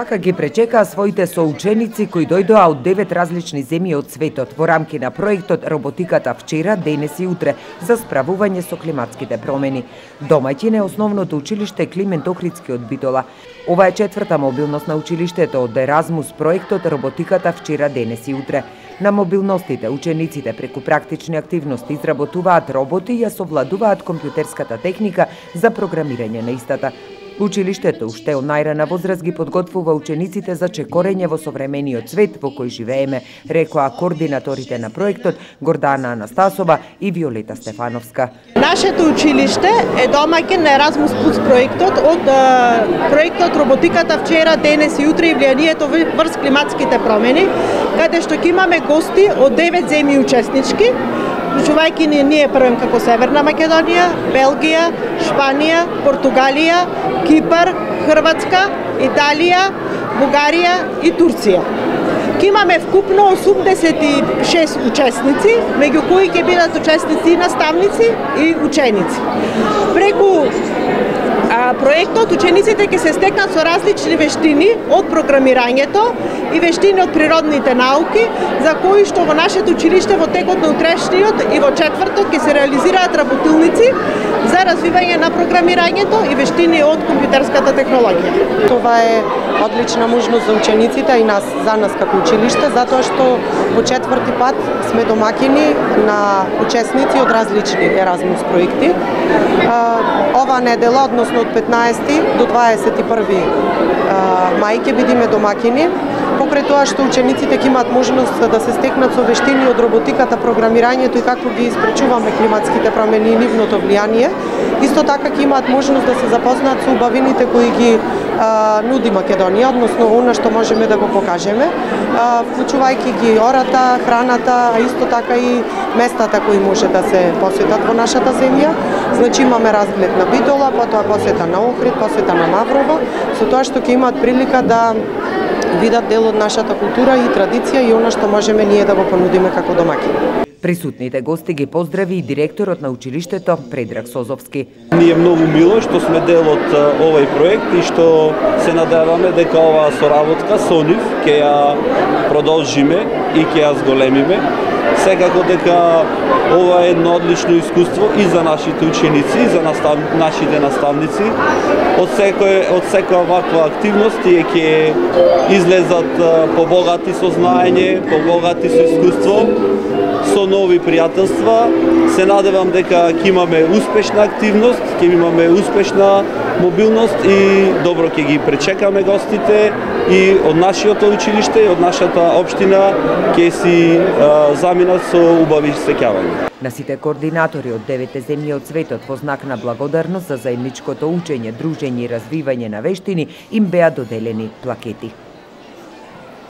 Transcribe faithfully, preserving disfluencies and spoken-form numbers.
Вака ги пречекаа своите соученици кои дојдоа од девет различни земји од светот во рамки на проектот Роботиката вчера, денес и утре за справување со климатските промени. Домаќин е основното училиште Климент Охридски од Битола. Ова е четврта мобилност на училиштето од Еразмус проектот Роботиката вчера, денес и утре. На мобилностите учениците преку практични активности изработуваат роботи и ја совладуваат компјутерската техника за програмирање на истата. Училиштето уште од најрана возраст ги подготвува учениците за чекорење во современиот свет во кој живееме, рекоа координаторите на проектот Гордана Анастасова и Виолета Стефановска. Нашето училиште е домаќин на Еразмус Плюс проектот од проектот Роботиката вчера, денес и утре и влијанието врз климатските промени, каде што ќе имаме гости од девет земји учеснички, вклучувајќи ни ние првем како Северна Македонија, Белгија, Шпанија, Португалија, Кипар, Хрватска, Италија, Бугарија и Турција. Ке имаме вкупно осумдесет и шест учесници, меѓу кои ќе бидат учесници и наставници и ученици. Преку а, проектот учениците ќе се стекнат со различни вештини од програмирањето и вештини од природните науки, за кои што во нашето училиште во текот на утрешниот и во четврток ќе се реализираат работилници за развивање на програмирањето и вештини од компјутерската технологија. Това е одлична можност за учениците и нас, за нас како училиште, затоа што по четврти пат сме домакини на учесници од различни Еразмус проекти. Ова недела, односно од петнаесети до дваесет и први мај ќе бидеме домакини, покрај тоа што учениците ќе имаат можност да се стекнат со вештини од роботиката, програмирањето и како ги испречуваме климатските промени и нивното влијание. Исто така ќе имаат можност да се запознаат со убавините кои ги а, нуди Македонија, односно она што можеме да го покажеме, а, вклучувајќи ги ората, храната, а исто така и местата кои може да се посетат во нашата земја. Значи имаме разглед на Битола, потоа посета на Охрид, посета на Маврово, со тоа што ќе имаат прилика да видат дел од нашата култура и традиција и она што можеме ние да го понудиме како домаќини. Присутните гости ги поздрави и директорот на училиштето Предраг Созовски. Ни е многу мило што сме дел од овој проект и што се надеваме дека оваа соработка со нив ќе ја продолжиме и ќе ја зголемиме. Секако дека ова е едно одлично искуство и за нашите ученици, и за настав... нашите наставници. Од секој од секоја ваква активност тие ќе излезат побогати со знаење, побогати со искуство, со нови пријателства. Се надевам дека ќе имаме успешна активност, ќе имаме успешна мобилност и добро ќе ги пречекаме гостите и од нашиот училиште и од нашата општина ќе си а, заминат со убави сеќавања. На сите координатори од девете земји од светот во знак на благодарност за заедничкото учење, дружење и развивање на вештини им беа доделени плакети.